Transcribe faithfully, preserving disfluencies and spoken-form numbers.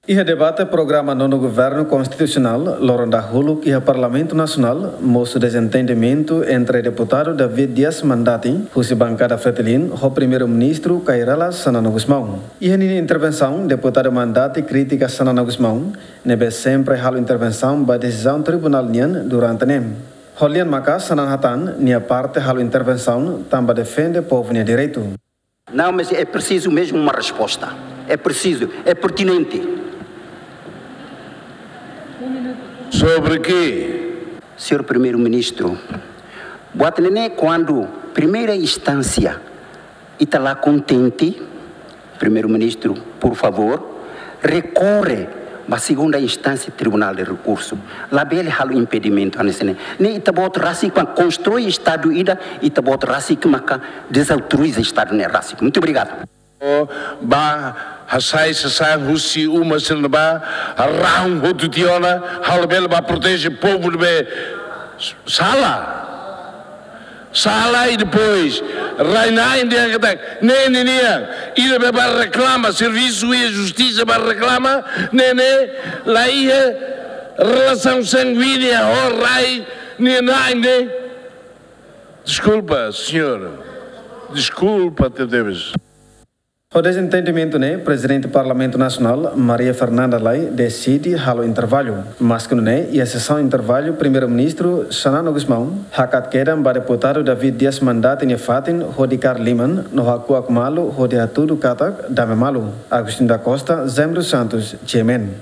Iha debate programa Nono Governu Konstitusionál loron dahuluk iha Parlamentu Nasionál, mosu dezentendimentu entre deputadu David Dias Mandati, husi bankada Fretilin, ho Primeiru-Ministru Kay Rala Xanana Gusmão. Iha ninia intervensaun, deputadu Mandati kritika Xanana Gusmão, ne'ebé sempre halo intervensaun ba desizaun tribunál nian durante ne'e. Ho lian maka'as, Xanana hatán nia parte halo intervensaun tanba defende povu nia direitu. Não, mas é preciso mesmo uma resposta. É preciso, é pertinente. Sobre quê? Senhor Primeiro-Ministro, buat ne'e ne'e, quando primeira instância ita la kontente, Primeiro-Ministro, por favor, recorre ba segunda instância Tribunal de Recurso. Labele halo impedimentu hanesan ne'e. Ne'e ita-boot rasik mak konstrui Estadu ida, ita-boot rasik maka dezautoriza Estadu ne'e rasik. Muito obrigado. Ba hasai sasán husi uma sira ne'ebá, rahun hotu tiha ona, ha'u labele ba proteje povu ne'ebé sala. Sala i depois rai-na'in dehan katak ne'e ninian. Ida be ba reklama, servisu iha justisa ba reklama, ne'e ne'e la iha relasaun sanguínea ho rai nia na'in ne'e. Deskulpa, señór. Deskulpa, tebetebes. Ho dezentendimentu ne'e, Prezidente Parlamentu Nasionál, Maria Fernanda Lay, deside halo intervalu. Maske nune'e, iha sesaun intervalu, Primeiru-Ministru Xanana Gusmão hakat kedan ba deputadu David Dias Mandati nia fatin hodi kaer liman no hakuak malu hodi hatudu katak dame malu. Agostinho da Costa, Jaime dos Santos, G M N.